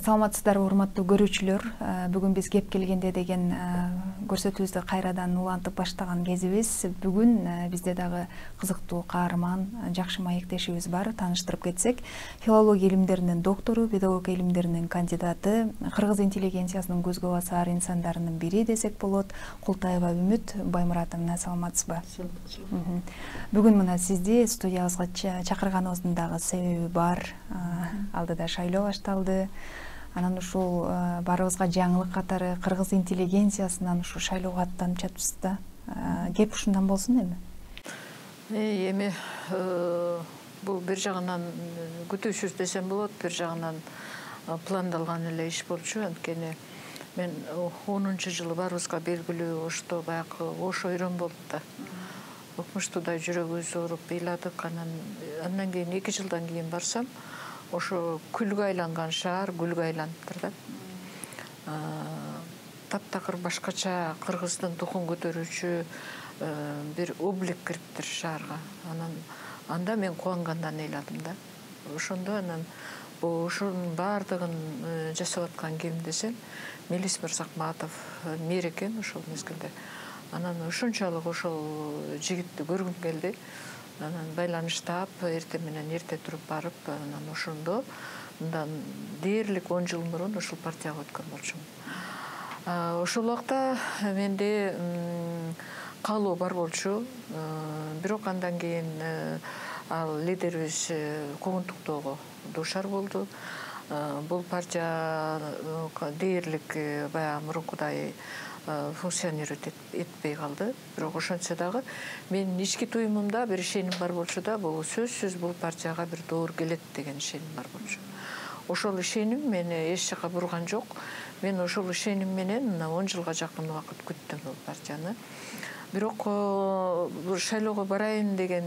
Саламатсыздарбы урматтуу көрүүчүлөр. Бүгүн биз кеп келгенде деген көрсөтүүбүздү кайрадан улантып баштаган кезибиз. Бүгүн бизде дагы кызыктуу каарман, жакшы маектешибиз бар. Тааныштырып кетсек, филология илимдеринин доктору, педагогика илимдеринин кандидаты, кыргыз интеллигенциясынын көзгө басар инсандарынын бири десек болот, Култаева Үмүт Баймуратовна. Саламатсызбы? Бүгүн мына сизди студиябызга чакырганыбыздын дагы себеби бар. Алдыда шайлоо башталды. Анан ушул баарыбызга жаңылык катары кыргыз интеллигенциясынан ушу шайлоого аттанып жатпыз да. Кеп ушундан болсун эми. Эми бул бир жагынан күтүүсүз десем болот, бир жагынан пландалган эле иш болчу. Анткени мен 10-жылы баарыбызга белгилүү ошто баягы ош ойрон болду да. Укмуштуудай жүрөгүбүз ооруп ыйладык. Андан кийин 2 жылдан кийин барсам, ошо күлгө айланган шаар гүлгө айланыптыр да. Таптакыр башкача кыргыздын духун көтөрүүчү бир облик кириптир шаарга. Анда мен кубангандан ыйладым да. Ошондо анан ошонун баардыгын жасап аткан ким десем, Мелис Мырзакматов мэр экен ошол мезгилде. Анан ушунчалык ошол жигитти көргүм келди. Анан байланыштап, эртең менен эрте туруп барып, анан ошондо мындан дээрлик 10 жыл мурун ошол партияга өткөн болчумун. Ошол убакта менде каалоо бар болчу. Бирок андан кийин ал лидерибиз куугунтуктоого дуушар болду. Бул партия дээрлик баягы мурункудай функционировать этпей калды. Бирок ошентсе дагы менин ички туюмумда бир ишеним бар болчу да, бул сөзсүз бул партияга бир доор келет деген ишеним бар болчу. Ошол ишеним мени эч жака бурган жок. Мен ошол ишеним менен 10 жылга жакын убакыт күттүм бул партияны. Бирок бул шайлоого барайын деген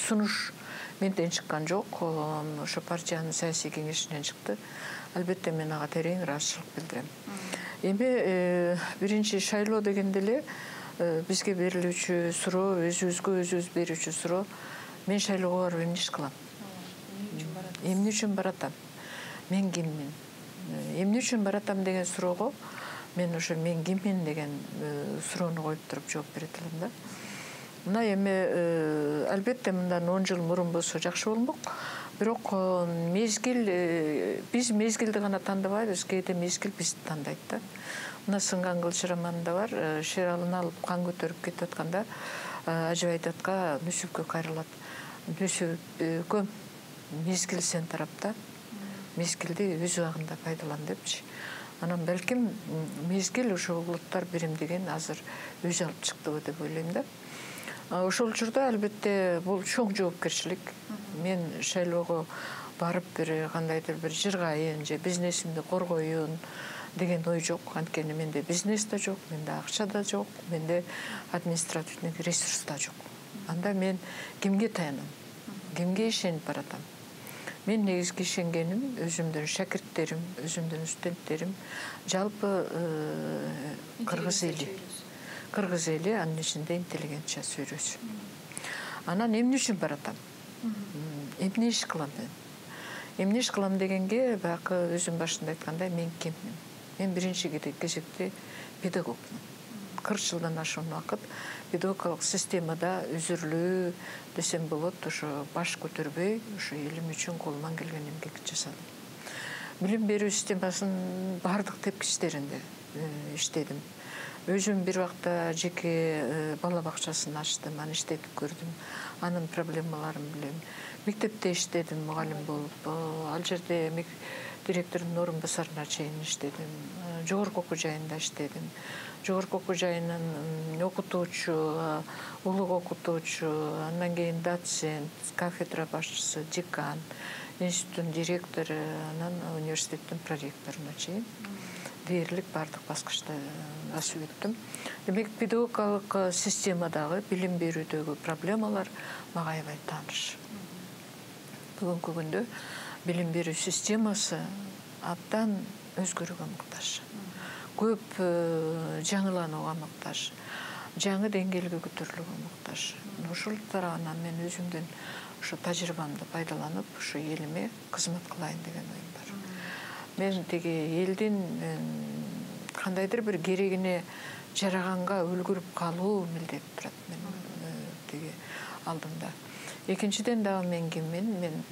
сунуш менден чыккан жок. Ошо партиянын саясий кеңешинен чыкты. Албетте мен ага терең ыраазычылык билдирем. Эми биринчи шайлоо дегенде эле бизге берилүүчү суроо, өзүбүзгө өзүбүз берүүчү суроо: мен шайлоого барып эмне иш кылам? Эмне үчүн баратам? Мен киммин? Эмне үчүн баратам деген суроого мен ошо мен киммин деген суроону коюп туруп жооп берет элем да. Мына эми албетте мындан 10 жыл мурун болсо жакшы болмок. Бирок биз мезгилди гана тандабайбыз, кээде мезгил бизди тандайт да. Мына Сынган кылыч романында бар, шералын алып кан көтөрүп кетип атканда Ажыбайт атка Нүсүпкө кайрылат. Нүсүпкөм, мезгил сен тарапта, мезгилди өз убагында пайдалан депчи. Анан балким мезгил ошо улуттар биримдигин азыр өзү алып чыктыбы деп ойлойм да. Ошол учурда албетте бул чоң жоопкерчилик. Мен шайлоого барып бир кандайдыр бир жыргайын же бизнесимди коргоюн деген ой жок. Анткени менде бизнес да жок, менде акча да жок, менде административный ресурс да жок. Анда мен кимге таянам? Кимге ишенип баратам? Мен негизги ишенгеним өзүмдүн шакирттерим, өзүмдүн студенттерим, жалпы кыргыз эли, анын ичинде интеллигенция сөйрөсү. Анан эмне үчүн баратам? Эмне иш кылам мен? Эмне иш кылам дегенге баягы өзүм башында айткандай, мен киммин? Мен биринчи кезекте педагогмун. 40 жылдан ашуун убакыт педагогикалык системада үзүрлүү десем болот, ошо баш көтөрбөй, ошо элим үчүн колуман келген эмгек жасадым. Билим берүү системасынын бардык тепкичтеринде иштедим. Өзүм бир убакта жеке бала бакчасын ачтым, аны иштетип көрдүм. Анын проблемаларын билем. Мектепте иштедим, мугалим болуп. Ал жерде директордун орун басарына чейин иштедим. Жогорку окуу жайында иштедим. Жогорку окуу жайынын окутуучу, улук окутуучу, андан кийин доцент, кафедра башчысы, декан, институттун директору, анан университеттин проректоруна чейин дээрлик бардык баскычты басып өттүм. Демек, педагогикалык системадагы билим берүүдөгү проблемалар мага аябай тааныш. Бүгүнкү күндө билим берүү системасы абдан өзгөрүүгө муктаж. Көп жаңыланууга муктаж, жаңы деңгээлге көтөрүлүүгө муктаж. Ошол тарабынан мен өзүмдүн ошо тажрыйбамды пайдаланып, ошо элиме кызмат кылайын деген оюм бар. мен тиги элдин кандайдыр бир керегине жараганга үлгүрүп калуу милдет турат тиги алдымда. Экинчиден дагы мен киммин? Мен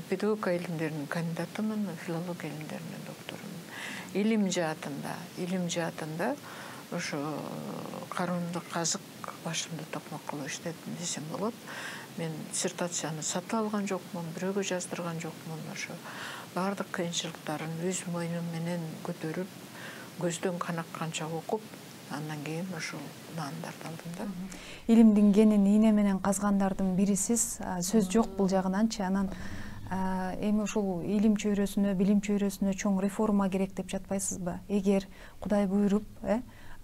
педагогика илимдеринин кандидатымын, филология илимдеринин докторумун. Илим жаатында ошо кароомдук казык башымды токмок кылып иштедим десем болот. Мен диссертацияны сатып алган жокмун, бирөөгө жаздырган жокмун. Ошо баардык кыйынчылыктарын өз мойнум менен көтөрүп, көздөн канакканча окуп, андан кийин ошол наандарды алдым да. Илимдин кенин ийне менен казгандардын бирисиз, сөз жок бул жагынанчы. Анан эми ушул илим чөйрөсүнө, билим чөйрөсүнө чоң реформа керек деп жатпайсызбы? Эгер Кудай буйруп,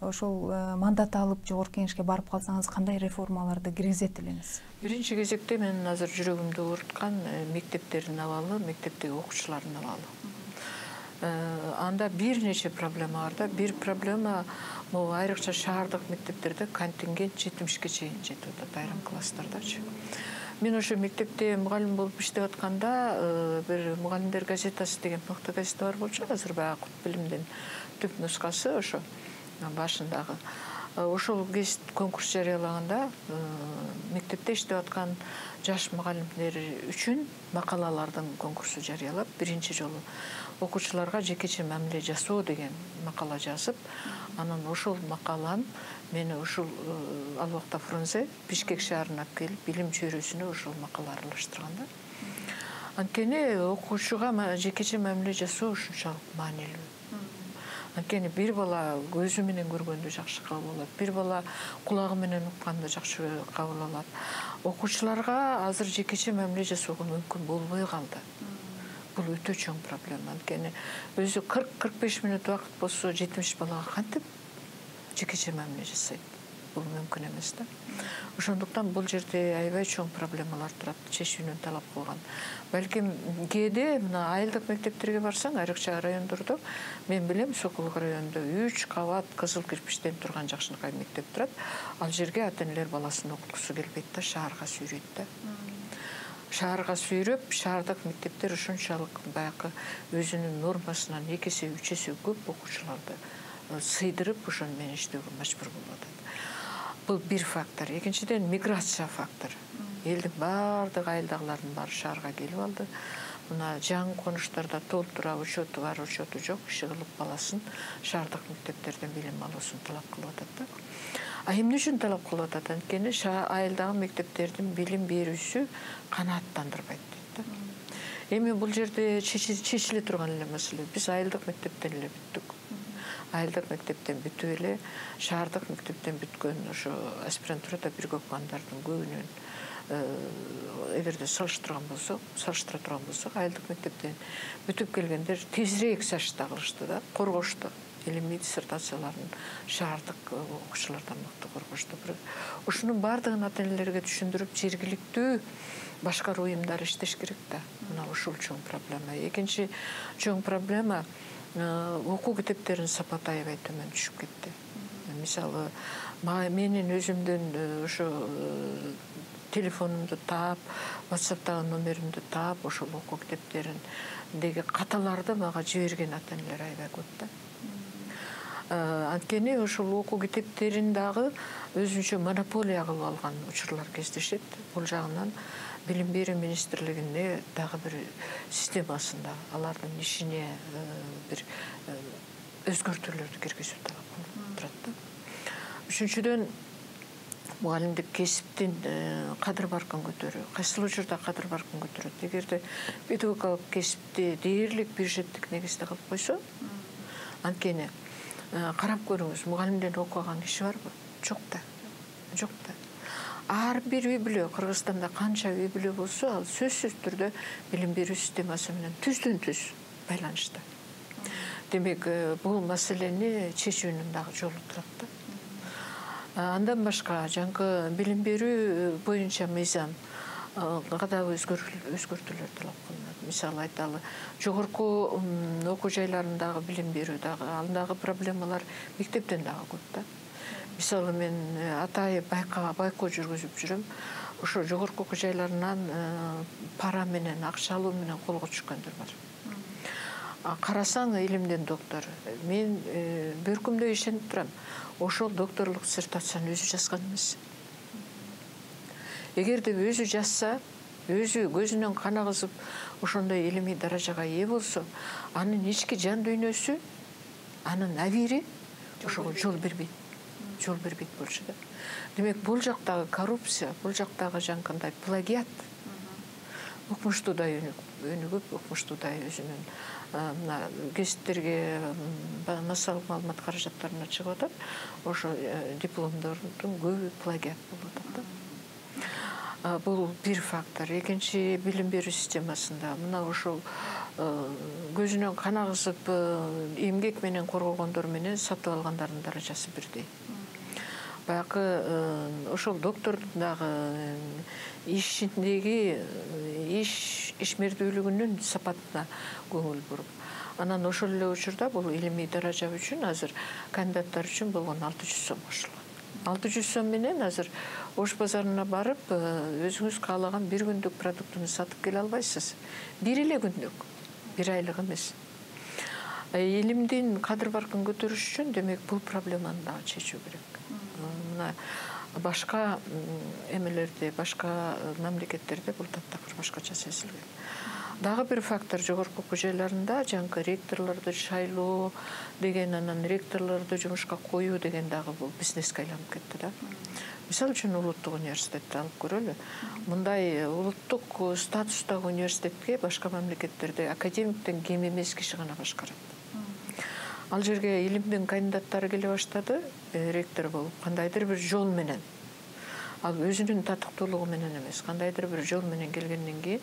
ошол мандат алып жогорку кеңешке барып калсаңыз, кандай реформаларды киргизет элеңиз? Биринчи кезекте менин азыр жүрөгүмдү ооруткан мектептердин абалы, мектептеги окуучулардын абалы. Анда бир нече проблема бар да. Бир проблема могу айрыкча шаардык мектептерде контингент 70-ке чейин жетип атат айрым класстардачы. Мен ошо мектепте мугалим болуп иштеп атканда бир мугалимдер газетасы деген мыкты газета бар болчу. Азыр баягы Кут билимдин түп нускасы ошо башындагы. Ошол гезит конкурс жарыялаганда мектепте иштеп аткан жаш мугалимдер үчүн макалалардын конкурсу жарыялап, биринчи жолу окуучуларга жекече мамиле жасоо деген макала жазып, анан ошол макаланы мени ушул ал убакта Фрунзе Бишкек шаарына алып келип, билим чөйрөсүнө ошол макала аралаштырган да. Анткени окуучуга жекече мамиле жасоо ушунчалык маанилүү. Анткени бир бала көзү менен көргөндү жакшы кабыл алат, бир бала кулагы менен укканды жакшы кабыл алат. Окуучуларга азыр жекече мамиле жасоого мүмкүн болбой калды. Бул өтө чоң проблема. Анткени өзү 40-45 мүнөт убакыт болсо 70 балага кантип жекече мамиле жасайт? Бул мүмкүн эмес да. Ошондуктан бул жерде аябай чоң проблемалар турат, чечүүнү талап кылган. Балким кээде мына айылдык мектептерге барсаң, айрыкча райондордо, мен билем Сокулук районунда 3 кабат кызыл кирпичтен турган жакшынакай мектеп турат. Ал жерге ата-энелер баласын окуткусу келбейт да, шаарга сүйрөйт да. Шаарга сүйрөп, шаардык мектептер ушунчалык баягы өзүнүн нормасынан 2 эсе 3 эсе көп окуучуларды сыйдырып ошону менен иштөөгө мажбур болуп атат. Бул бир фактор. Экинчиден миграция фактор. Элдин баардык айылдагылардын баары шаарга келип алды. Мына жаңы конуштарда толтура учету бар, учету жок, иши кылып баласын шаардык мектептерден билим алуусун талап кылып атат да. А эмне үчүн талап кылып атат? Анткени айылдагы мектептердин билим берүүсү канааттандырбайт дейт да. Эми бул жерде чечиле турган эле маселе. Биз айылдык мектептен эле бүттүк. Айылдык мектептен бүтүп эле шаардык мектептен бүткөн ошо аспирантурада бирге окугандардын көбүнүн эгерде салыштыра турган болсок, айылдык мектептен бүтүп келгендер тезирээк сажда кылышты да, коргошту. Илимий диссертацияларын шаардык окуучулардан мыкты коргошту. Ушунун баардыгын ата-энелерге түшүндүрүп, жергиликтүү башкаруу уюмдары иштеш керек да. Мына ушул чоң проблема. Экинчи чоң проблема окуу китептеринин сапаты аябай төмөн түшүп кетти. Мисалы, менин өзүмдүн ошо телефонумду таап, WhatsApp'тагы номеримди таап, ошол окуу китептериндеги каталарды мага жиберген ата-энелер аябай көп да. Анткени ошол окуу китептерин дагы өзүнчө монополия кылып алган учурлар кездешет. Бул жагынан Билим берүү министрлигине дагы бир системасында алардын ишине бир өзгөртүүлөрдү киргизүү талап кылып турат да. Үчүнчүдөн мугалимдик кесиптин кадыр баркын көтөрүү. Кайсыл учурда кадыр баркын көтөрөт? Эгерде педагогикалык кесипти дээрлик бюджеттик негизде кылып койсо, анткени карап көрүңүз, мугалимден окуган киши барбы? Жок да. Жок да. Ар бир үй бүлө, Кыргызстанда канча үй бүлө болсо, ал сөзсүз түрдө билим берүү системасы менен түздөн-түз байланышта. Демек, бул маселени чечүүнүн дагы жолу турат да. Андан башка жаңкы билим берүү боюнча мыйзам кадагы өзгөртүүлөр талап кылынат. Мисалы айталы, жогорку окуу жайларындагы билим берүү дагы, андагы проблемалар мектептен дагы көп да. Мисалы, мен атайып байкоо жүргүзүп жүрөм. Ошо жогорку окуу жайларынан пара менен, акчалуу менен колго түшкөндөр бар. карасаң илимдин доктор. Мен бөркүмдө ишенип турам. Ошол докторлук диссертацияны өзү жазган эмес. Эгерде өзү жазса, өзү көзүнөн кан агызып ошондой илимий даражага ээ болсо, анын ички жан дүйнөсү, анын абийири ошого жол бербейт. Жол бербейт болчу да. Демек, бул жактагы коррупция, бул жактагы жанакындай плагиат, укмуштуудай өнүгүп, укмуштуудай өзүнүн мына гезиттерге массалык маалымат каражаттарына чыгып атат. Ошо дипломдордун көбү плагиат болуп атат да. Бул бир фактор. Экинчи, билим берүү системасында мына ошол көзүнөн кан агызып эмгек менен коргогондор менен сатып алгандардын даражасы бирдей. Баягы ошол доктордун дагы ишиндеги ишмердүүлүгүнүн сапатына көңүл буруп, анан ошол эле учурда бул илимий даража үчүн азыр кандидаттар үчүн болгон 600 сом кошулган. 600 сом менен азыр Ош базарына барып, өзүңүз каалаган бир күндүк продуктуну сатып келе албайсыз. Бир эле күндүк, бир айлык эмес. Илимдин кадыр баркын көтөрүш үчүн, демек, бул проблеманы дагы чечүү керек. Мына башка эмелерде, башка мамлекеттерде бул таптакыр башкача сезилген. Дагы бир фактор, жогорку окуу жайларында жанагы ректорлорду шайлоо деген, анан ректорлорду жумушка коюу деген дагы бул бизнеске айланып кетти да. Мисалы үчүн улуттук университетти алып көрөлү. Мындай улуттук статустагы университетке башка мамлекеттерде академиктен кем эмес киши гана башкарат. Ал жерге илимдин кандидаттары келе баштады, ректор болуп, кандайдыр бир жол менен. Ал өзүнүн татыктуулугу менен эмес, кандайдыр бир жол менен келгенден кийин,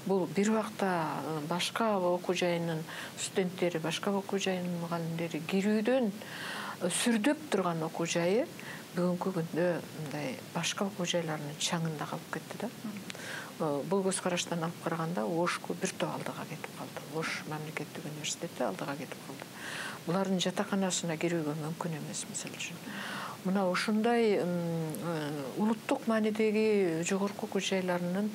бул бир убакта башка окуу жайынын студенттери, башка окуу жайынын мугалимдери кирүүдөн сүрдөп турган окуу жайы бүгүнкү күндө мындай башка окуу жайларынын чаңында калып кетти да. Бул көз караштан алып караганда Ошку бир топ алдыга кетип калды. Ош мамлекеттик университети алдыга кетип калды. Булардын жатаканасына кирүүгө мүмкүн эмес, мисалы үчүн. Мына ушундай улуттук маанидеги жогорку окуу жайларынын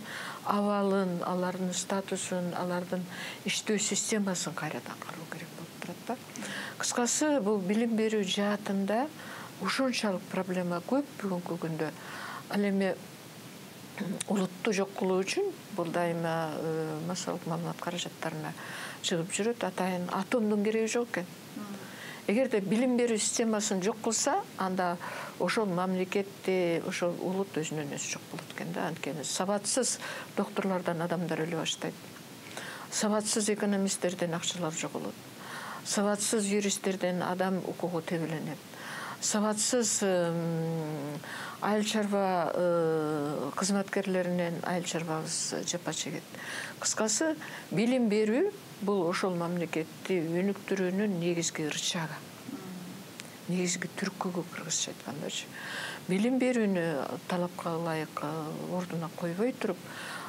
абалын, алардын статусун, алардын иштөө системасын кайрадан кароо керек болуп турат да. Кыскасы, бул билим берүү жаатында ушунчалык проблема көп бүгүнкү күндө. Ал эми улутту жок кылуу үчүн бул дайыма массалык маалымат каражаттарына чыгып жүрөт. Атайын атомдун кереги жок экен. Эгерде билим берүү системасын жок кылса, анда ошол мамлекетте, ошол улут өзүнөн өзү жок болот экен да. Анткени сабатсыз докторлордон адамдар өлө баштайт. Сабатсыз экономисттерден акчалар жоголот. Сабатсыз юристтерден адам укугу тебеленет. Сабатсыз айыл чарба кызматкерлеринен айыл чарбабыз жапа чегет. Кыскасы, билим берүү бул ошол мамлекетти өнүктүрүүнүн негизги ырчагы. Негизги түркүгү кыргызча айткандачы. Билим берүүнү талапка ылайык ордуна койбой туруп,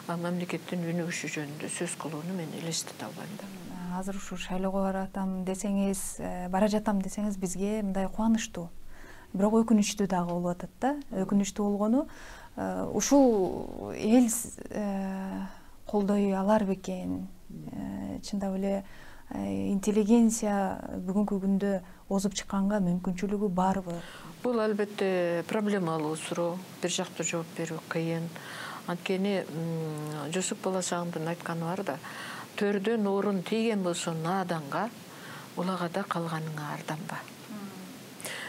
мамлекеттин өнүгүшү жөнүндө сөз кылууну мен элестете албайм да. Азыр ушу шайлоого бара жатам десеңиз, бизге мындай кубанычтуу, бирок өкүнүчтүү дагы болуп атат да. Өкүнүчтүү болгону ушул эл колдой алар бекен? Чындап эле интеллигенция бүгүнкү күндө озуп чыкканга мүмкүнчүлүгү барбы? Бул албетте проблемалуу суроо, бир жактуу жооп берүү кыйын. Анткени Жусуп Баласагындын айтканы бар да, төрдөн орун тийген болсо нааданга, улагада калганыңа арданба.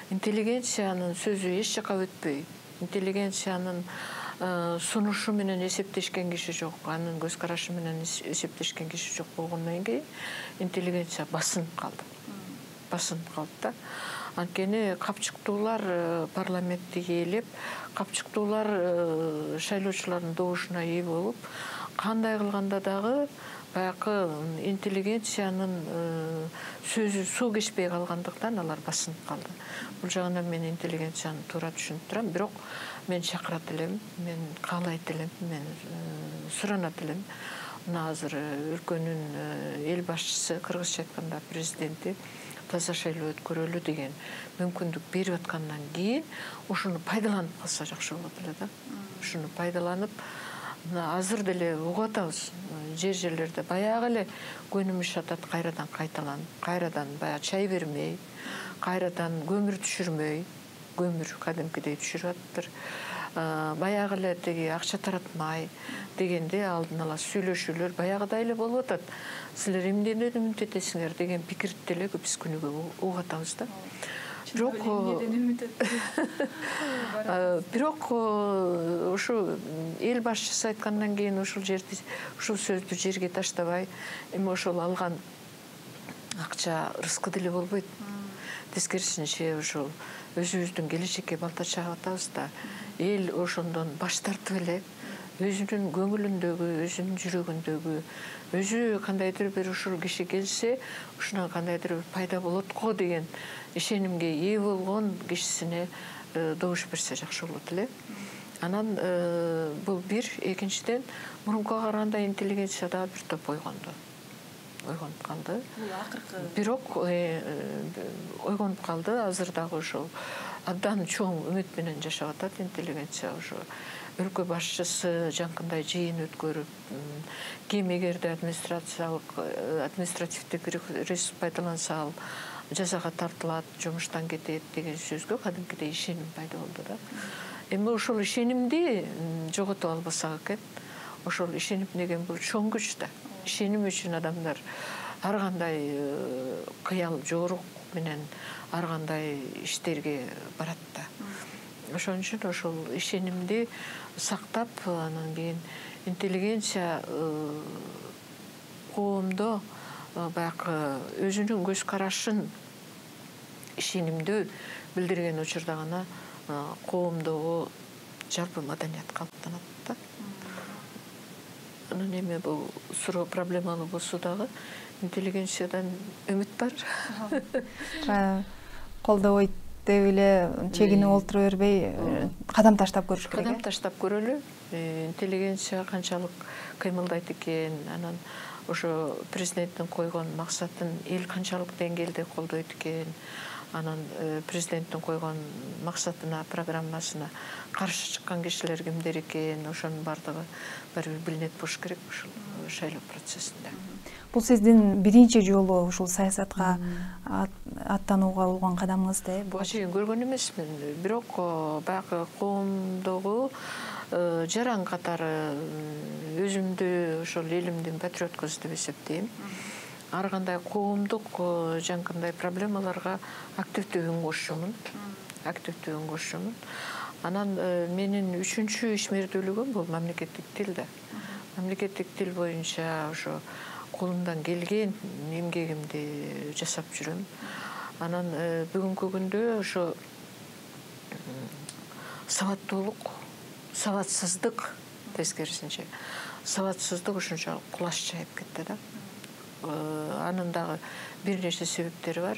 Интеллигенциянын сөзү эч жака өтпөй, интеллигенциянын сунушу менен эсептешкен киши жок, анын көз карашы менен эсептешкен киши жок болгондон кийин интеллигенция басынып калды. Басынып калды да. Анткени капчыктуулар парламентти ээлеп, капчыктуулар шайлоочулардын добушуна ээ болуп, кандай кылганда дагы баягы интеллигенциянын сөзү суу кечпей калгандыктан алар басынып калды. Бул жагынан мен интеллигенцияны туура түшүнүп турам, бирок мен чакырат элем, мен каалайт элем, мен суранат элем. Мына азыр өлкөнүн эл башчысы, кыргызча айтканда президенти таза шайлоо өткөрөлү деген мүмкүндүк берип аткандан кийин ушуну пайдаланып калса жакшы болот эле да. Ушуну пайдаланып, азыр деле угуп атабыз. Жерлерде баягы эле көнүмүш атат, кайрадан кайталанып, кайрадан баягы чай бермей, кайрадан көмүр түшүрмөй, көмүр кадимкидей түшүрүп атыптыр. Баягы эле тиги акча таратмай дегенде алдын ала сүйлөшүүлөр баягыдай эле болуп атат. Силер эмнеден үмүт этесиңер деген пикирди деле биз күнүгө угуп атабыз да. Бирок ушу эл башчысы айткандан кийин ушул жерди, ушул сөздү жерге таштабай, эми ошол алган акча рызкы деле болбойт. Тескерисинче ушул өзүбүздүн келечекке балта чагып атабыз да. Эл ошондон баш тартып эле өзүнүн көңүлүндөгү, өзүнүн жүрөгүндөгү, өзү кандайдыр бир ушул киши келсе, ушунан кандайдыр бир пайда болот го деген ишенимге ээ болгон кишисине добуш берсе жакшы болот эле. Анан бул бир, экинчиден мурункуга караганда интеллигенция дагы бир топ ойгонду. Ойгонуп калды. Бирок ойгонуп калды, азыр дагы ошол абдан чоң үмүт менен жашап атат интеллигенция. Ошо өлкө башчысы жанкындай жыйын өткөрүп, ким эгерде административдик ресурс пайдаланса ал жазага тартылат, жумуштан кетет деген сөзгө кадимкидей ишеним пайда болду да. Эми ошол ишенимди жоготуп албасак экен. Ошол ишеним деген бул чоң күч да. Ишеним үчүн адамдар ар кандай кыял жорук менен ар кандай иштерге барат да. Ошон үчүн ошол ишенимди сактап, анан кийин интеллигенция коомдо баягы өзүнүн көз карашын ишенимдүү билдирген учурда гана коомдогу жалпы маданият калыптанат да. Анан эми бул суроо проблемалуу болсо дагы интеллигенциядан үмүт бар. Колдобойт деп эле чегинип олтура бербей, кадам таштап көрүш керек. Кадам таштап көрөлү. Интеллигенция канчалык кыймылдайт экен, анан ошо президенттин койгон максатын эл канчалык деңгээлде колдойт экен, анан президенттин койгон максатына, программасына каршы чыккан кишилер кимдер экен, ошонун баардыгы баары бир билинет болуш керек ушул шайлоо процессинде. Бул сиздин биринчи жолу ушул саясатка аттанууга болгон кадамыңыз да? Буга чейин көргөн эмесмин, бирок баягы коомдогу жаран катары өзүмдү ошол элимдин патриоткусу деп эсептейм. Ар кандай коомдук жанкындай проблемаларга активдүү үн кошумун. Анан менин үчүнчү ишмердүүлүгүм бул мамлекеттик тил да. Мамлекеттик тил боюнча ошо колумдан келген эмгегимди жасап жүрөм. Анан бүгүнкү күндө ошо сабаттуулук, сабатсыздык, тескерисинче сабатсыздык ушунчалык кулаш жайып кетти да. Анын дагы бир нече себептери бар.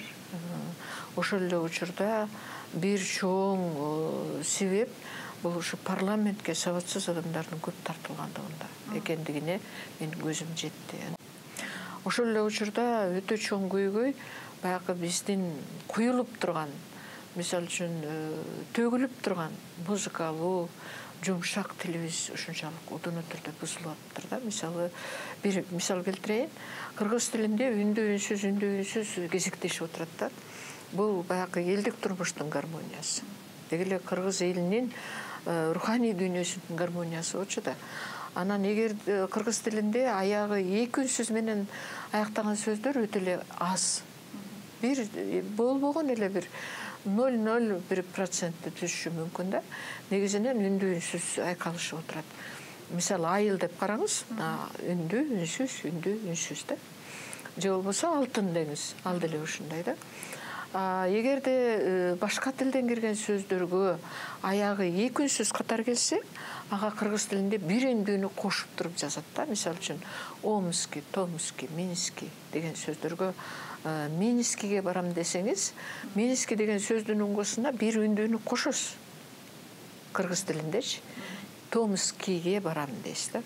Ошол эле учурда бир чоң себеп бул ушу парламентке сабатсыз адамдардын көп тартылгандыгында экендигине менин көзүм жетти. Ошол эле учурда өтө чоң көйгөй баягы биздин куюлуп турган, мисалы үчүн төгүлүп турган музыкалуу, жумшак тилибиз ушунчалык удуна түрдө бузулуп атыптыр да. Мисалы, бир мисал келтирейин. Кыргыз тилинде үндүү үнсүз кезектешип отурат да. Бул баягы элдик турмуштун гармониясы. Деги эле кыргыз элинин руханий дүйнөсүнүн гармониясы болчу да. Анан эгер кыргыз тилинде аягы эки үнсүз менен аяктаган сөздөр өтө эле аз. Бир болбогон эле бир 0,01% түшүшү мүмкүн да. Негизинен үндүү үнсүз айкалышып отурат. Мисалы, айыл деп караңыз, үндүү үнсүз да. Же болбосо алтын деңиз, ал деле ушундай да. Эгерде башка тилден кирген сөздөргө аягы эки үнсүз катар келсе, ага кыргыз тилинде бир үндүүнү кошуп туруп жазат да. Мисалы үчүн Омский, Томский, Минский деген сөздөргө Минскиге барам десеңиз, Минский деген сөздүн уңгусуна бир үндүүнү кошосуз. Кыргыз тилиндечи Томскийге барам дейсиз да.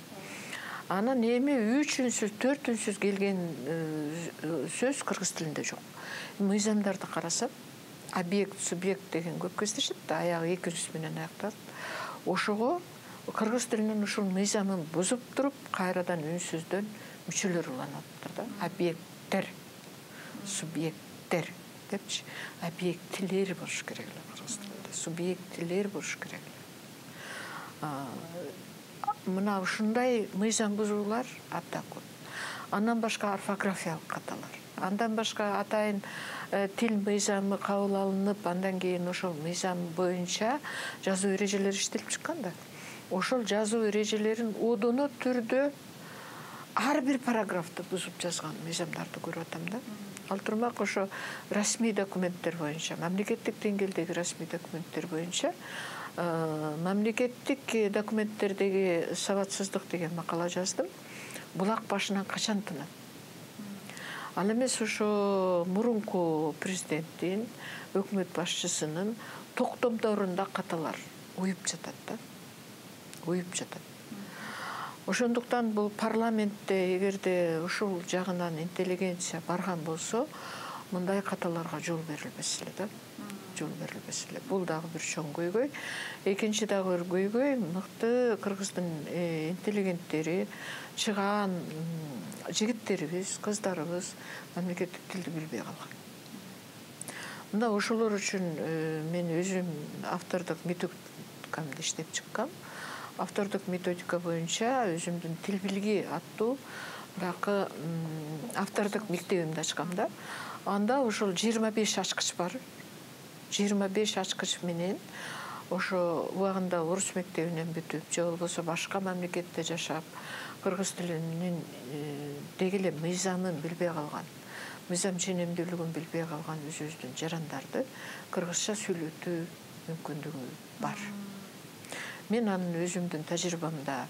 Анан эми 3 үнсүз, 4 үнсүз келген сөз кыргыз тилинде жок. Мыйзамдарды карасам, объект, субъект деген көп кездешет да, аягы эки үнсүз менен аякталат. Ошого кыргыз тилинин ушул мыйзамын бузуп туруп кайрадан үнсүздөн мүчөлөр уланаттыр да. Объекттер, субъекттер депчи, объектилер болуш керек эле кыргыз тилинде. Субъектилер болуш керек эле. Мына ушундай мыйзам бузуулар абдан көп. Андан башка орфографиялык каталар. Андан башка атайын тил мыйзамы кабыл алынып, андан кийин ошол мыйзам боюнча жазуу эрежелери иштелип чыккан да. Ошол жазуу эрежелерин одоно түрдө ар бир параграфты бузуп жазган мыйзамдарды көрүп атам да. Ал турмак ошо расмий документтер боюнча, мамлекеттик деңгээлдеги расмий документтер боюнча мамлекеттик документтердеги сабатсыздык деген макала жаздым. Булак башынан качан тынат? Ал эмес ошо мурунку президенттин, өкмөт башчысынын токтомдорунда каталар уюп жатат да. Уюп жатат. Ошондуктан бул парламентте эгерде ушул жагынан интеллигенция барган болсо, мындай каталарга жол берилбес эле да. Жол берилбес эле. Бул дагы бир чоң көйгөй. Экинчи дагы бир көйгөй, мыкты кыргыздын интеллигенттери, чыгаан жигиттерибиз, кыздарыбыз мамлекеттик тилди билбей калган. Мында ошолор үчүн мен өзүм автордук методикамды иштеп чыккам. Автордук методика боюнча өзүмдүн тил билги аттуу дагы автордук мектебимди ачкам да. Анда ошол 25 ачкыч бар. 25 ачкыч менен ошо убагында орус мектебинен бүтүп, же болбосо башка мамлекетте жашап, кыргыз тилинин деги эле мыйзамын билбей калган, мыйзам ченемдүүлүгүн билбей калган өзүбүздүн жарандарды кыргызча сүйлөтүү мүмкүндүгү бар. Мен анын өзүмдүн тажрыйбамда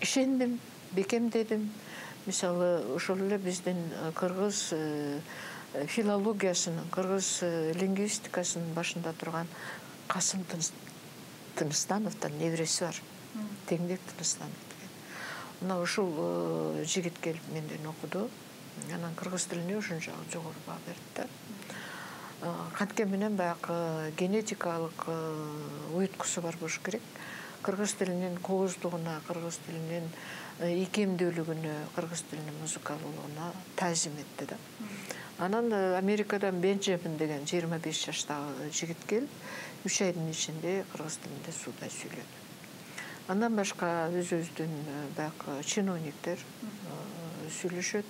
ишендим, бекемдедим. Мисалы, ошол эле биздин кыргыз филологиясынын, кыргыз лингвистикасынын башында турган Касым Тыныстановдун небереси бар. Теңдек Тыныстанов деген. Мына ушул жигит келип менден окуду. Анан кыргыз тилине ушунчалык жогору баа берди да. Канткен менен баягы генетикалык уюткусу бар болуш керек. Кыргыз тилинин кооздугуна, кыргыз тилинин икемдүүлүгүнө, кыргыз тилинин музыкалуулугуна таазим этти да. Анан Америкадан Бенджамин деген 25 жаштагы жигит келип, 3 айдын ичинде кыргыз тилинде суудай сүйлөдү. Андан башка өзүбүздүн баягы чиновниктер сүйлөшөт.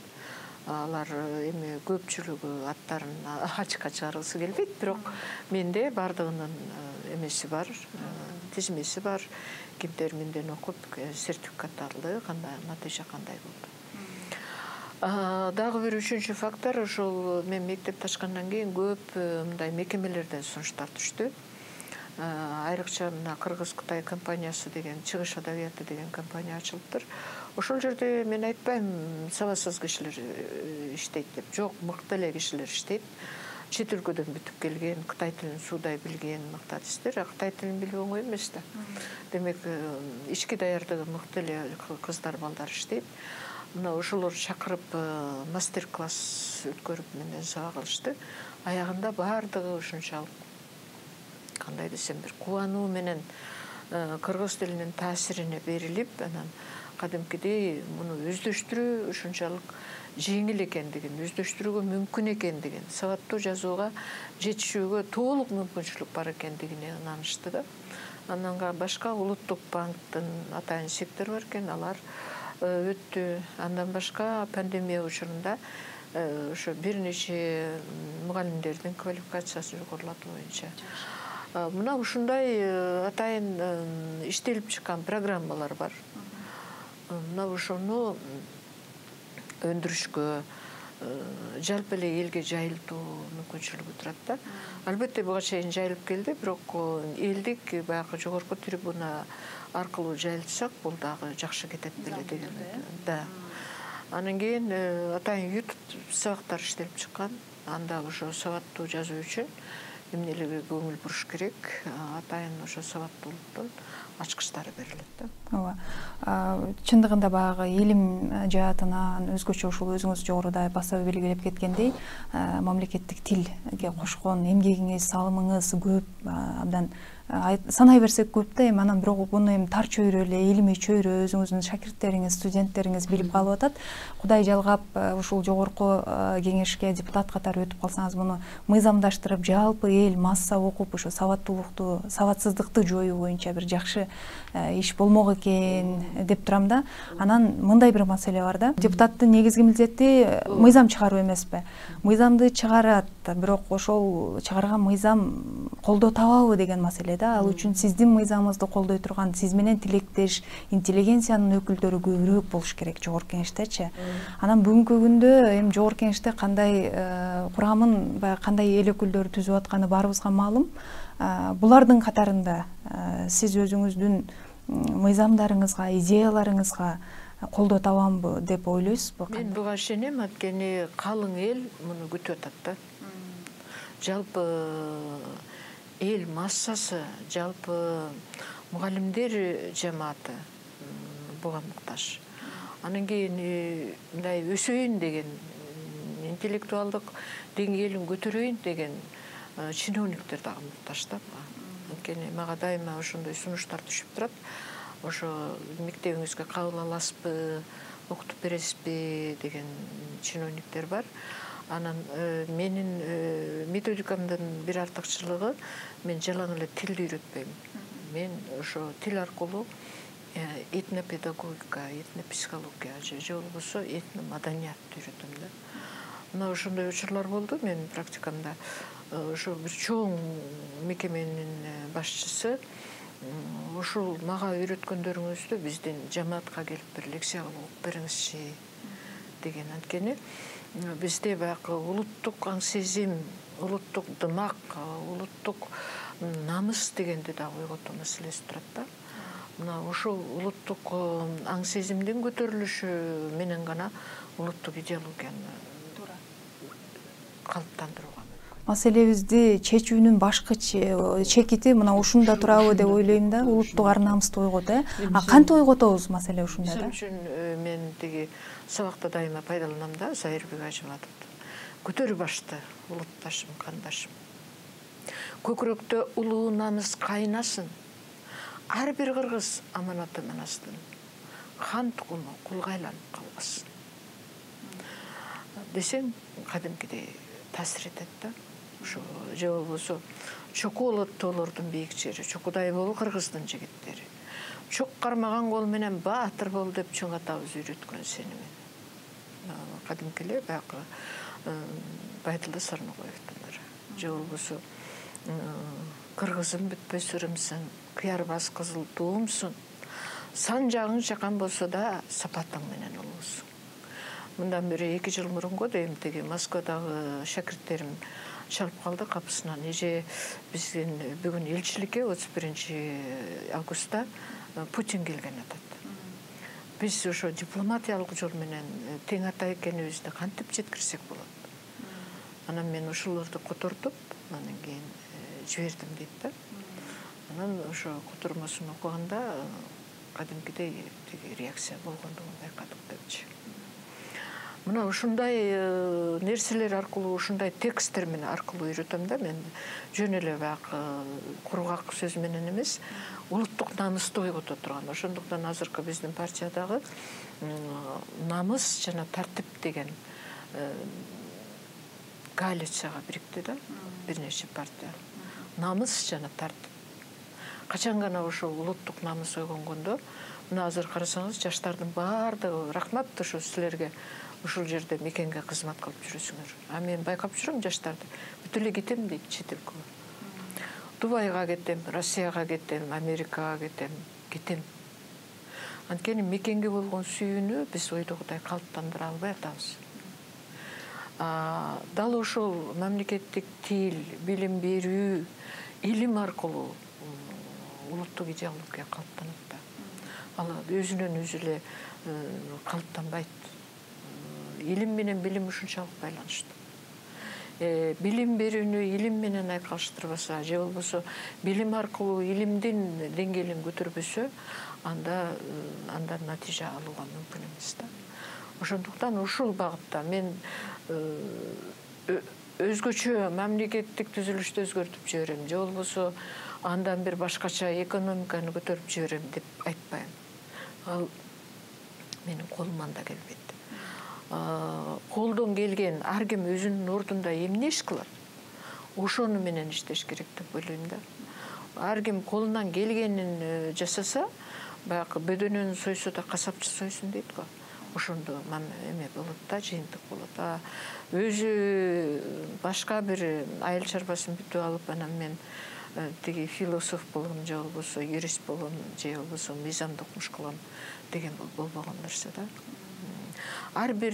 Алар эми көпчүлүгү аттарын ачыкка чыгаргысы келбейт, бирок менде бардыгынын эмеси бар, тизмеси бар. Кимдер менден окуп, сертификат алды, кандай натыйжа кандай болду. Дагы бир үчүнчү фактор, ошол мен мектепти ачкандан кийин көп мындай мекемелерден сунуштар түштү. Айрыкча мына Кыргыз-Кытай компаниясы деген, чыгыш адабияты деген компания ачылыптыр. Ошол жерде мен айтпайм сабатсыз кишилер иштейт деп. Жок, мыкты эле кишилер иштейт. Чет өлкөдөн бүтүп келген, Кытай тилин суудай билген мыкты артисттер, Кытай тилин билүү оңой эмес да. Демек, ички даярдыгы мыкты эле кыздар, балдар иштейт. Мына ошолор чакырып мастер-класс өткөрүп менден сабак алышты. Аягында бардыгы ушунчалык, кандай десем, бир кубануу менен кыргыз тилинин таасирине берилип, анан кадимкидей муну өздөштүрүү ушунчалык жеңил экендигин, өздөштүрүүгө мүмкүн экендигин, сабаттуу жазууга жетишүүгө толук мүмкүнчүлүк бар экендигине ынанышты да. Андан башка Улуттук банктын атайын сектор бар экен, алар өттү. Андан башка пандемия учурунда ошо бир нече мугалимдердин квалификациясы жогорулатуу боюнча. Мына ушундай атайын иштелип чыккан программалар бар. Мына ошону өндүрүшкө, жалпы эле элге жайылтуу мүмкүнчүлүгү турат да. Албетте буга чейин жайылып келди, бирок элдик баягы жогорку трибуна аркылуу жайылтсак, бул дагы жакшы кетет беле деген да. Анан кийин атайын YouTube сабактар иштелип чыккан. Анда ошо сабаттуу жазуу үчүн эмнелерге көңүл буруш керек, атайын ошо сабаттуулуктун ачкычтары берилет да. Ооба. Чындыгында баягы илим жаатынан өзгөчө ушул өзүңүз жогоруда баса белгилеп кеткендей, мамлекеттик тилге кошкон эмгегиңиз, салымыңыз көп, абдан санай берсек көп да, эми анан бирок муну эми тар чөйрө эле, илимий чөйрө өзүңүздүн шакирттериңиз, студенттериңиз билип калып атат. Кудай жалгап ушул жогорку кеңешке депутат катары өтүп калсаңыз, муну мыйзамдаштырып, жалпы эл масса окуп ушу сабаттуулукту, сабатсыздыкты жоюу боюнча бир жакшы иш болмок экен деп турам да. Анан мындай бир маселе бар да. Депутаттын негизги милдети мыйзам чыгаруу эмеспи? Мыйзамды чыгарат, бирок ошол чыгарган мыйзам колдоо табабы деген маселе да. Ал үчүн сиздин мыйзамыңызды колдой турган, сиз менен тилектеш интеллигенциянын өкүлдөрү көбүрөөк болуш керек жогорку кеңештечи. Анан бүгүнкү күндө эми жогорку кеңеште кандай курамын, баягы кандай эл өкүлдөрү түзүп атканы баарыбызга маалым. Булардын катарында сиз өзүңүздүн мыйзамдарыңызга, идеяларыңызга колдоо табамбы деп ойлойсузбу? Мен буга ишенем, анткени калың эл муну күтүп атат да. Жалпы эл массасы, жалпы мугалимдер жамааты буга муктаж. Анан кийин мындай өсөйүн деген, интеллектуалдык деңгээлин көтөрөйүн деген чиновниктер дагы муктаж да. Анткени мага дайыма ошондой сунуштар түшүп турат. Ошо мектебиңизге кабыл аласызбы, окутуп бересизби деген чиновниктер бар. Анан менин методикамдын бир артыкчылыгы, мен жалаң эле тилди үйрөтпөйм. Мен ошо тил аркылуу этнопедагогика, этнопсихология же болбосо этномаданиятты үйрөтөм да. Мына ошондой учурлар болду менин практикамда. Ошо бир чоң мекеменин башчысы ушул мага үйрөткөндөрүңүздү биздин жамаатка келип бир лекция кылып окуп бериңизчи деген. Анткени бизде баягы улуттук аң сезим, улуттук дымак, улуттук намыс дегенди дагы ойготуу маселеси турат да. Мына ушул улуттук аң сезимдин көтөрүлүшү менен гана улуттук идеологияны калыптандырууга. Маселебизди чечүүнүн башкы чекити мына ушунда турабы деп ойлойм да. Улуттук ар намысты ойготот. Кантип ойготобуз маселе ушунда да? Ошон үчүн мен тиги сабакта дайыма пайдаланам да, Зайырбек Ажыматовду. Көтөрү башты улутташым, кандашым. Көкүрөктө улуу намыс кайнасын. Ар бир кыргыз аманаты манастын. Хан тукуму кулга айланып калбасын. Десең, кадимкидей таасир этет да. Ошо же болбосо чоку болот тоолордун бийик жери, чокудай бол кыргыздын жигиттери. Чок кармаган кол менен баатыр бол деп чоң атабыз үйрөткөн сени мен. Кадимки эле баягы Байдылда Сарногоевдун. Же болбосо кыргызым бүтпөс ырымсың, кыярбас кызыл туумсуң. Сан жагың чакан болсо да сапатың менен улуусуң. Мындан бери 2 жыл мурунку дейм, тиги Москвадагы шакирттерим чалып калды капысынан. Эже биздин бүгүн элчиликке 31 августта Путин келген атат. Биз ошо дипломатиялык жол менен тең ата экенибизди кантип жеткирсек болот? Анан мен ушуларды котортуп, анан кийин жибердим дейт да. Анан ошо котормосун окуганда кадимкидей тиги реакция болгондугун байкадык депчи. Мына ушундай нерселер аркылуу, ушундай тексттер менен аркылуу үйрөтөм да. Мен жөн эле баягы кургак сөз менен эмес, улуттук намысты ойгото турган. Ошондуктан азыркы биздин партиядагы намыс жана тартип деген коалицияга бирикти да, бир нече партия. Намыс жана тартип. Качан гана ошол улуттук намыс ойгонгондо, мына азыр карасаңыз, жаштардын баардыгы рахмат ошо силерге ушул жерде мекенге кызмат кылып жүрөсүңөр. А мен байкап жүрөм жаштарды. Бүт эле кетем дейт чет элге. Дубайга кетем, Россияга кетем, Америкага кетем. Анткени мекенге болгон сүйүүнү биз ойдогудай калыптандыра албай атабыз. Дал ошол мамлекеттик тил, билим берүү, илим аркылуу улуттук идеология калыптанат да. Ал өзүнөн өзү эле калыптанбайт. Илим менен билим ушунчалык байланыштуу. Билим берүүнү илим менен айкалыштырбаса, же болбосо билим аркылуу илимдин деңгээлин көтөрбөсө, андан натыйжа алууга мүмкүн эмес да. Ошондуктан ушул багытта мен өзгөчө мамлекеттик түзүлүштү өзгөртүп жиберем, же болбосо андан бир башкача экономиканы көтөрүп жиберем деп айтпайм. Ал менин колуман да келбейт. Колдон келген ар ким өзүнүн ордунда эмне иш кылат, ошону менен иштеш керек деп ойлойм да. Ар ким колунан келгенин жасаса, баягы бөдөнөнү сойсо да касапчы сойсун дейт го. Ошондо эме болот да, жыйынтык болот. Өзү башка бир айыл чарбасын бүтүп алып, анан мен тиги философ болгом же болбосо юрист болгом же болбосо мыйзамды окумуш кылам деген болбогон нерсе да. Ар бир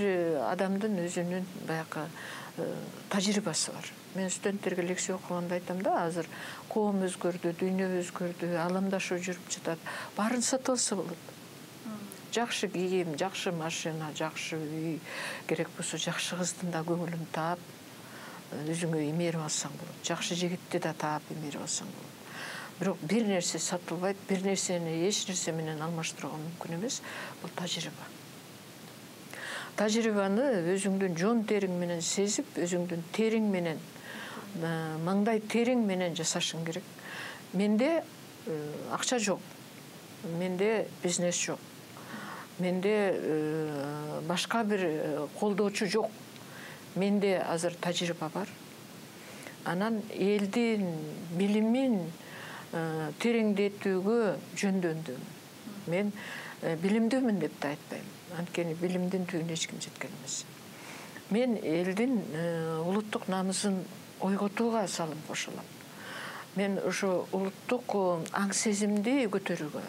адамдын өзүнүн баягы тажрыйбасы бар. Мен студенттерге лекция окуганда айтам да, азыр коом өзгөрдү, дүйнө өзгөрдү, аламдашуу жүрүп жатат. Баарын сатып алса болот. Жакшы кийим, жакшы машина, жакшы үй, керек болсо жакшы кыздын да көңүлүн таап, өзүңө имерип алсаң болот. Жакшы жигитти да таап имерип алсаң болот. Бирок бир нерсе сатылбайт, бир нерсени эч нерсе менен алмаштырууга мүмкүн эмес. Бул тажрыйба. Тажрыйбаны өзүңдүн жон териң менен сезип, өзүңдүн териң менен, маңдай териң менен жасашың керек. Менде акча жок. Менде бизнес жок. Менде башка бир колдоочу жок. Менде азыр тажрыйба бар. Анан элдин билимин тереңдетүүгө жөндөндүм. Мен билимдүүмүн деп да айтпайм. Анткени билимдин түбүнө эч ким жеткен эмес. Мен элдин улуттук намысын ойготууга салым кошулам. Мен ошо улуттук аң сезимди көтөрүүгө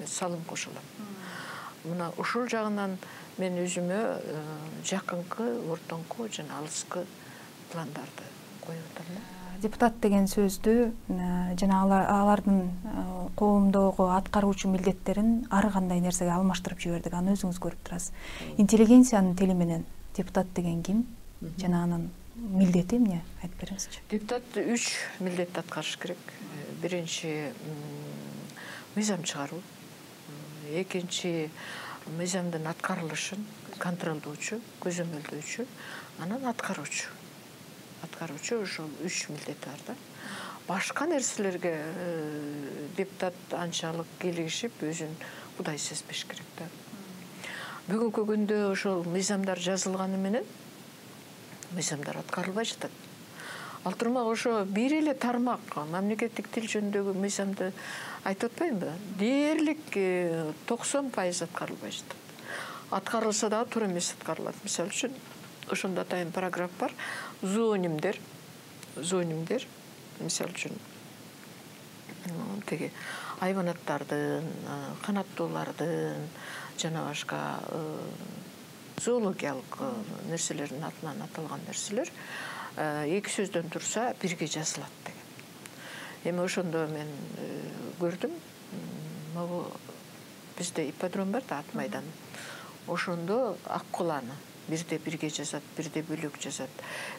салым кошулам. Мына ушул жагынан мен өзүмө жакынкы, ортоңку жана алыскы пландарды коюп атам. Депутат деген сөздү жана алардын коомдогу аткаруучу милдеттерин ар кандай нерсеге алмаштырып жибердик. Аны өзүңүз көрүп турасыз. Интеллигенциянын тили менен депутат деген ким? Жана анын милдети эмне? Айтып бериңизчи. Депутат 3 милдетти аткарыш керек. Биринчи мыйзам чыгаруу. Экинчи мыйзамдын аткарылышын контролдоочу, көзөмөлдөөчү, анан аткаруучу. Ошол 3 милдет бар да. Башка нерселерге депутат анчалык кийлигишип, өзүн кудай сезбеш керек да. Бүгүнкү күндө ошол мыйзамдар жазылганы менен мыйзамдар аткарылбай жатат. Ал турмак ошо бир эле тармак мамлекеттик тил жөнүндөгү мыйзамды айтып атпаймынбы? Дээрлик 90% аткарылбай жатат. Аткарылса дагы туура эмес аткарылат. Мисалы үчүн ошондо атайын параграф бар. Зоонимдер. Мисалы үчүн тиги айванаттардын, канаттуулардын жана башка зоологиялык нерселердин атынан аталган нерселер эки сөздөн турса бирге жазылат деген. Эми ошондо мен көрдүм. Могу бизде ипподром бар да, ат майдан. Ошондо ак куланы бирде бирге жазат, бирде бөлөк жазат.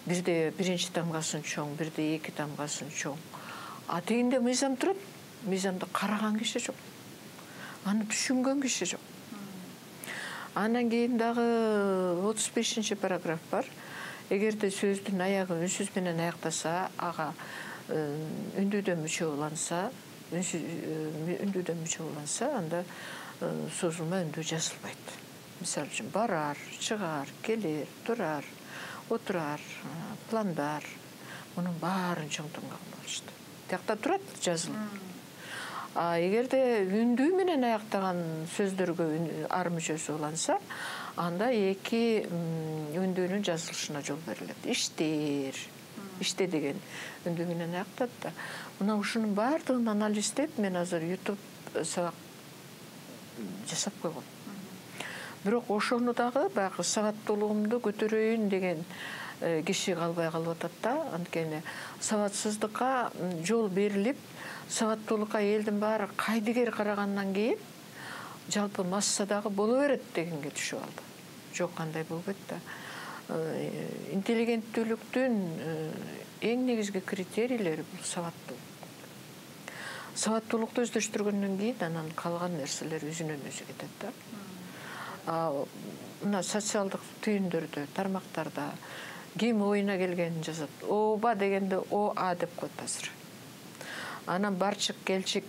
Бирде биринчи тамгасын чоң, бирде эки тамгасын чоң. А тегинде мыйзам турат. Мыйзамды караган киши жок. Аны түшүнгөн киши жок. Андан кийин дагы 35 параграф бар. Эгерде сөздүн аягы үнсүз менен аяктаса, ага үндүүдөн мүчө уланса, анда созулма үндүү жазылбайт. Мисалы үчүн барар, чыгар, келер, турар, отурар, пландар. Мунун баарын чоң тамгаган болушты. Тиякта турат жазылып. Эгерде үндүү менен аяктаган сөздөргө ар мүчөсү уланса, анда эки үндүүнүн жазылышына жол берилет. Иште деген үндүү менен аяктат да. Мына ушунун баардыгын анализдеп, мен азыр YouTube сабак жасап койгом. Бирок ошону дагы баягы сабаттуулугумду көтөрөйүн деген киши калбай калып атат да. Анткени сабатсыздыкка жол берилип, сабаттуулукка элдин баары кайдыгер карагандан кийин жалпы массадагы боло берет дегенге түшүп алды. Жок, кандай болбойт да. Интеллигенттүүлүктүн эң негизги критерийлери бул сабаттуулук. Сабаттуулукту өздөштүргөндөн кийин анан калган нерселер өзүнөн өзү кетет да. Мына социалдык түйүндөрдө, тармактарда ким оюна келгенин жазат. Ооба дегенде ОА деп коет азыр. Анан барчык келчик,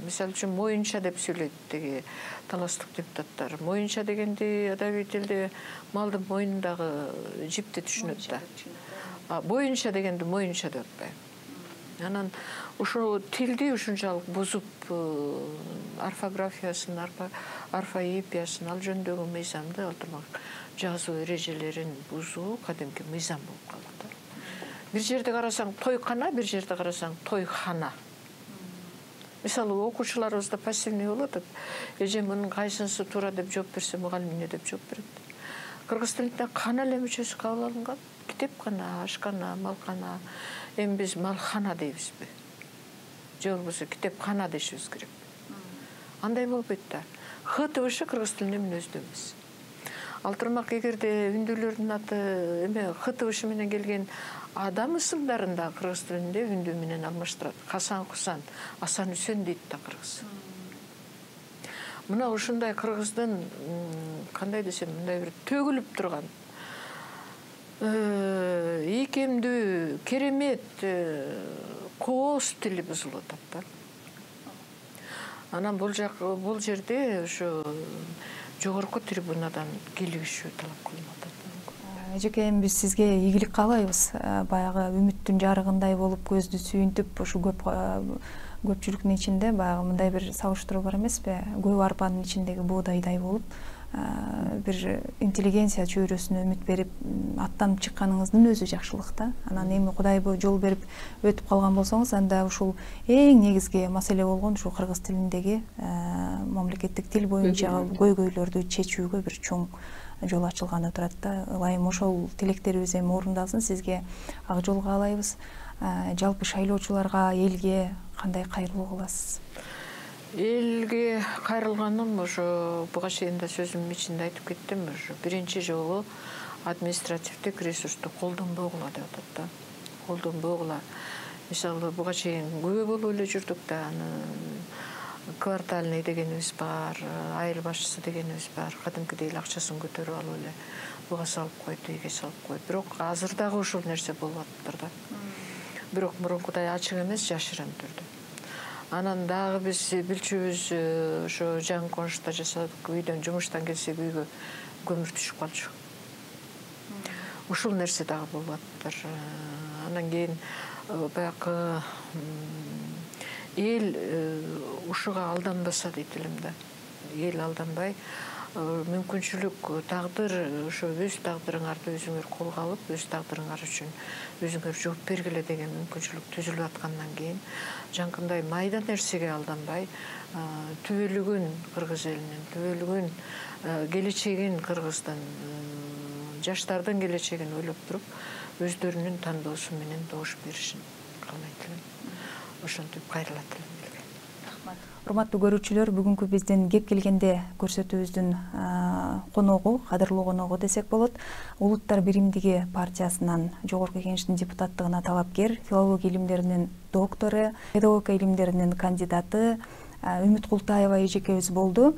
мисалы үчүн моюнча деп сүйлөйт тиги таластык депутаттар. Моюнча дегенди адабий тилде малдын мойнундагы жипти түшүнөт да. Боюнча дегенди моюнча деп атпайбы. Анан ушул тилди ушунчалык бузуп, орфографиясын, орфоэпиясын, ал жөнүндөгү мыйзамды алтырмак жазуу эрежелерин бузуу кадимки мыйзам болуп калды. Бир жерде карасаң тойкана, бир жерде карасаң тойхана. Мисалы, окуучуларыбызда пассивный болуп атат. Эже мунун кайсынысы туура деп жооп берсе, мугалим эмне деп жооп берет. Кыргыз тилинде кана эле мүчөсү кабыл алынган. Китепкана, ашкана, малкана. Эми биз малхана дейбизби? Же болбосо китепкана дешибиз керек. Андай болбойт да. Х тыбышы кыргыз тилинде мүнөздүү эмес. Алтырмак эгерде үндүүлөрдүн аты эме Х тыбышы менен келген адам ысымдарында кыргыз тилинде үндүү менен алмаштырат. Хасан Хусан, Асан Үсен дейт да кыргыз. Мына ушундай кыргыздын кандай десем, мындай бир төгүлүп турган ийкемдүү, керемет кооз тили бузулуп атат да. Анан бул жерде ошо жогорку трибунадан келишүү талап кылынып атат. Эжеке, эми биз сизге ийгилик каалайбыз. Баягы үмүттүн жарыгындай болуп көздү сүйүнтүп, ушу көпчүлүктүн ичинде баягы мындай бир сабыштыруу бар эмеспи? Көп арпанын ичиндеги боодайдай болуп, бир интеллигенция чөйрөсүнө үмүт берип аттанып чыкканыңыздын өзү жакшылык да. Анан эми Кудай жол берип өтүп калган болсоңуз, анда ушул эң негизги маселе болгон ушул кыргыз тилиндеги мамлекеттик тил боюнча көйгөйлөрдү чечүүгө бир чоң жол ачылганы турат да. Ылайым ошол тилектерибиз эми орундалсын, сизге ак жол каалайбыз. Жалпы шайлоочуларга, элге кандай кайрылуу кыласыз? Элге кайрылганым ошо буга чейин да сөзүмдүн ичинде айтып кеттим. Ошо биринчи жолу административдик ресурсту колдонбогула деп атат да. Колдонбогула. Мисалы, буга чейин күбө болуп эле жүрдүк да. Квартальный дегенибиз бар, айыл башчысы дегенибиз бар. Кадимкидей эле акчасын көтөрүп алып эле буга салып койду, тиге салып койду. Бирок азыр дагы ушул нерсе болуп атыптыр да. Бирок мурункудай ачык эмес, жашырын түрдө. Анан дагы биз билчүбүз ошо жаңы конушта жасадык, үйдөн жумуштан келсек үйгө көмүр түшүп калчу. Ушул нерсе дагы болуп атыптыр. Анан кийин баягы эл ушуга алданбаса дейт элем да. Эл алданбай, мүмкүнчүлүк, тагдыр, ошо өз тагдырыңарды өзүңөр колго алып, өз тагдырыңар үчүн өзүңөр жооп бергиле деген мүмкүнчүлүк түзүлүп аткандан кийин, жанкындай майда нерсеге алданбай, түбөлүгүн кыргыз элинин, түбөлүгүн келечегин кыргыздын, жаштардын келечегин ойлоп туруп, өздөрүнүн тандоосу менен добуш беришин каалайт элем. Ошентип кайрылат элем. Урматтуу көрүүчүлөр, бүгүнкү биздин кеп келгенде көрсөтүүбүздүн коногу, кадырлуу коногу десек болот, Улуттар биримдиги партиясынан жогорку кеңештин депутаттыгына талапкер, филология илимдеринин доктору, педагогика илимдеринин кандидаты Үмүт Култаева эжекебиз болду.